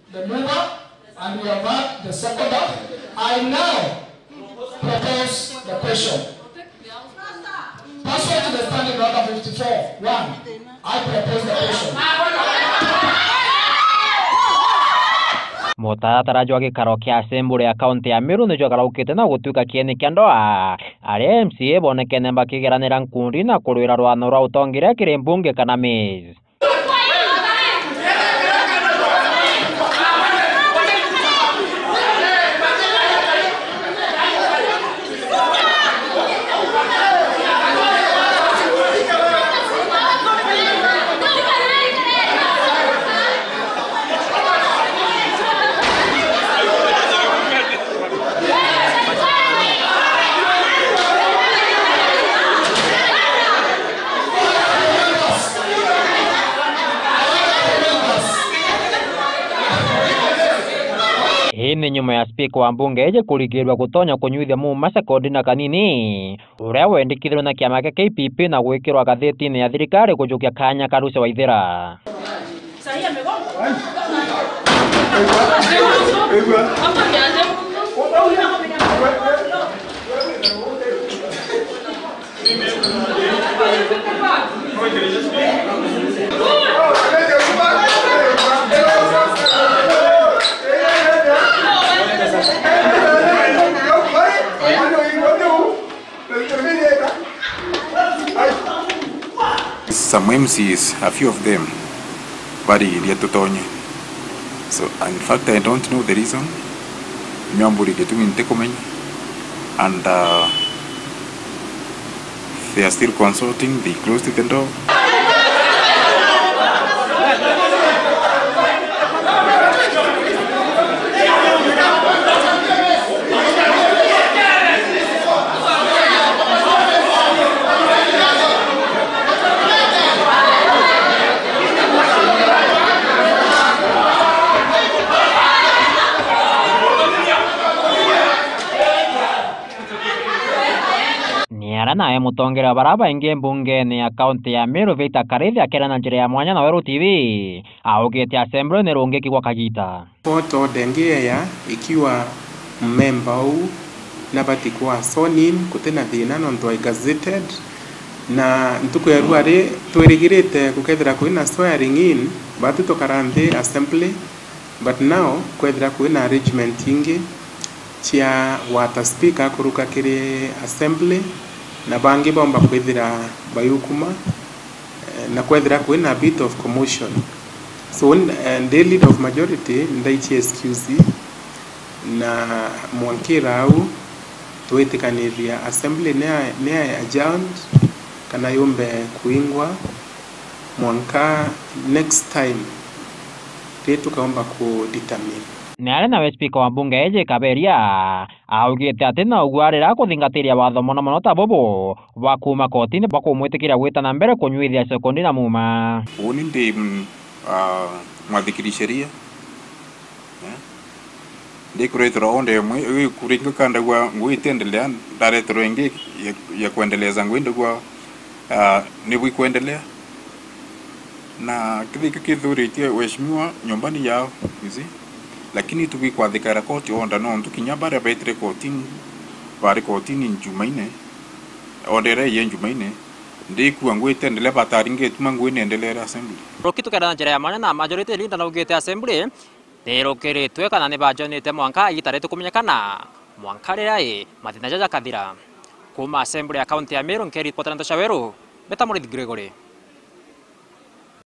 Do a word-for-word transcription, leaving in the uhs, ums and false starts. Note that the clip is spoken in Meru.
The mover, and we have heard the seconder. I now propose the question. Pursuant to the standing order fifty-four one, I propose the question. Mutaratara jwa gikaro kia Assembly ya kaunti ya Meru ni jwakaraukite na gutuika kieni kia ndoa, aria M C A bonekene bakigeranira nkundi na kurwira rwano rwa utongeria kiri mbunge kana Miss. Ii ni nyuma ya spika wa mbunge iji kurigirua gutonya kunyuithia Muma sekondi na kanini, uria wendikithirwe na kiama kia K P P na gwikirwa gathitine ya thirikari kujukia kanya ka Lucy Waithira. Some M Cs, a few of them, barigiria tutonye. So, in fact, I don't know the reason. Nyamburi gitumi ntikumenya. And, uh, they are still consulting, they closed the door. Ni aria nawe mutongeria wa baria baingi mbungene ya kaunti ya Meru, Victor Karithi, akiaria na njira ya mwanya na Weru T V, augite Assembly ni rungiki gwa kagita. Court order ingi yeya ikiwa mmemba uu nabati kwa sworn in, guti na thina nontu ai gazetted, na ntuku ya rua ri twirigirite gukethira kwina swearing in, batu tukara nthi Assembly, but now kwethira kwina arrangement ingi cia gwata speaker akuruka kiri Assembly, na bangi bomba kwithira bayukuma, eh, na kwethira kwina a bit of commotion. So, eh, ndi leader of majority, ndaichia excuse, na mwankira au, twitikaniria Assembly ni ya, ni ya adjourned kana yumbe kuingwa mwanka next time ri tukaumba ku determine. Ni ari nawe spika wa mbunge iji Kaberia augite ati na ugwarira kuthingatiria watho mono mono ta bubu bwa kuuma kotini bwa kumwitikiria gwita na mbere kunyuithia sekondi na Muma. Uuni ndi, mm, ah, mwathikiri sheria. Eh? Ndikureterwa onde imwe, iu ikuringa kandagua ngui itendelea, ndareterwa ingi ya, ya kuendeleza ngui ndagua, ah, nibu ikuendelea. Na kithika kithuritie weshimiwa nyumbani yao, you see? Lakini tubikwathikira koti order nontu kinya baria betire kotini, bari kotini Jumaine, order iria iye Jumaine, ndikua ngui itendelea, bataringi ituma ngui niendelere assembly. Ruki tukenda na njira ya mwanya na majority leader naugite assembly nirukiritwe kana ni bajonite mwanka igita ritukumenyekana, mwanka riria i mathina jaja jakathira. Kuuma Assembly ya County ya Meru, nkiripotera ndeto cia Weru, mbeta Murithi Gregory.